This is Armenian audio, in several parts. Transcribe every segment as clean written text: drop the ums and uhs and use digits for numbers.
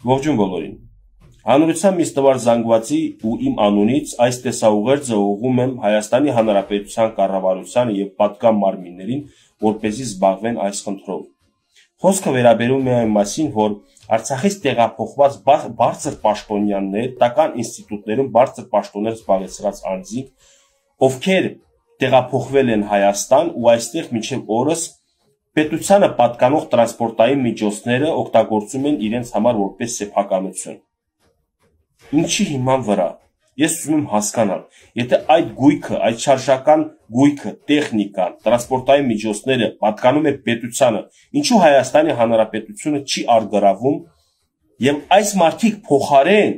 Ողջույն բոլորին։ Հանրության միստվար զանգվածի ու իմ անունից այս տեսաուղերձը ուղղում եմ Հայաստանի Հանրապետության կառավարությանը եւ պատկան մարմիններին, որպեսզի զբաղվեն այս խնդրով։ Խոսքը վերաբերում է այն մասին, որ Արցախից տեղափոխված բարձր պաշտոնյաներ, պետական ինստիտուտներում բարձր պաշտոններ զբաղեցրած անձինք, ովքեր տեղափոխվել են Հայաստան ու այստեղ մինչև օրս պետությանը պատկանող տրանսպորտային միջոցները օգտագործում են իրենց համար որպես սեփականություն։ Ինչի հիման վրա։ Ես ուզում եմ հասկանալ, եթե այդ գույքը, այդ շարժական գույքը, տեխնիկան, տրանսպորտային միջոցները պատկանում է պետությանը, ինչու Հայաստանի Հանրապետությունը չի արգրավում եւ այս մարդիկ փոխարեն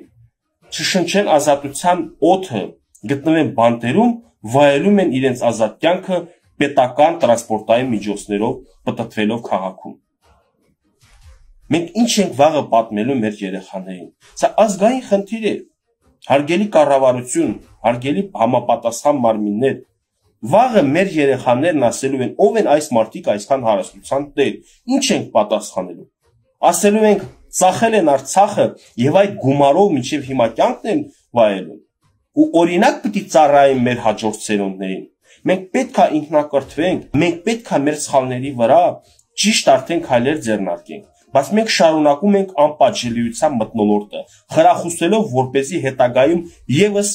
չշնչեն ազատության օդը, գտնվեն բանտերում, վայելում են իրենց ազատ կյանքը պետական տրանսպորտային միջոցներով պտտվելով քաղաքում։ Մենք ինչ ենք վաղը պատմելու մեր երեխաներին։ Սա ազգային խնդիր է։ Հարգելի կառավարություն, հարգելի համապատասխան մարմիններ, վաղը մեր երեխաներն ասելու են, ով են այս մարդիկ այսքան հարստության տեր, ինչ ենք պատասխանելու։ Ասելու ենք, ծախել են Արցախը եւ այդ գումարով մինչեւ հիմա կյանքն են վայելում։ Ու օրինակ պիտի ծառայեն մեր հաջորդ սերունդներին։ Մենք պետք է ինքնակրթվենք, մենք պետք է մեր սխալների վրա ճիշտ արդեն քայլեր ձեռնարկենք, բայց մենք շարունակում ենք անպատժելիության մթնոլորտը, խրախուսելով, որպեսզի հետագայում եւս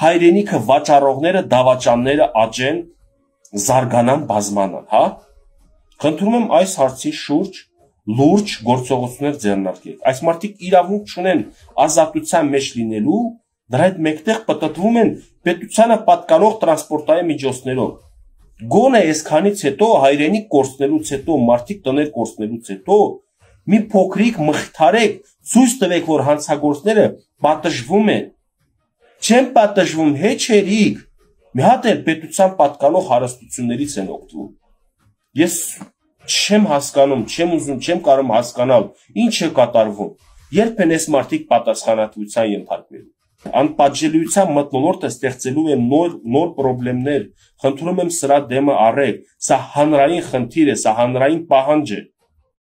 հայրենիքը վաճառողները, դավաճանները աճեն, զարգանան, բազմանան, հա։ Խնդրում եմ այս հարցի շուրջ լուրջ գործողություններ ձեռնարկեք։ Այս մարդիկ իրավունք չունեն ազատության մեջ լինելու, դրա հետ մեկտեղ պտտվում են պետությանը պատկանող տրանսպորտային միջոցներով։ Գոնե այսքանից հետո հայրենիք կորցնելուց հետո, մարդիկ տներ կորցնելուց հետո մի փոքրիկ մխիթարեք, ցույց տվեք, որ հանցագործները պատժվում են։ Չեն պատժվում, հեչերիկ։ Մի հատ էլ պետության պատկանող հարստություններից են օգտվում։ Ես չեմ հասկանում, չեմ ուզում, չեմ կարող հասկանալ, ինչ է կատարվում։ Երբ են այս մարդիկ պատասխանատվության ենթարկվելու։ Անպատժելիության մթնոլորտը ստեղծելու է նոր խնդիրներ։ Խնդրում եմ սրա դեմը առեք։ Սա հանրային խնդիր է, սա հանրային պահանջ է։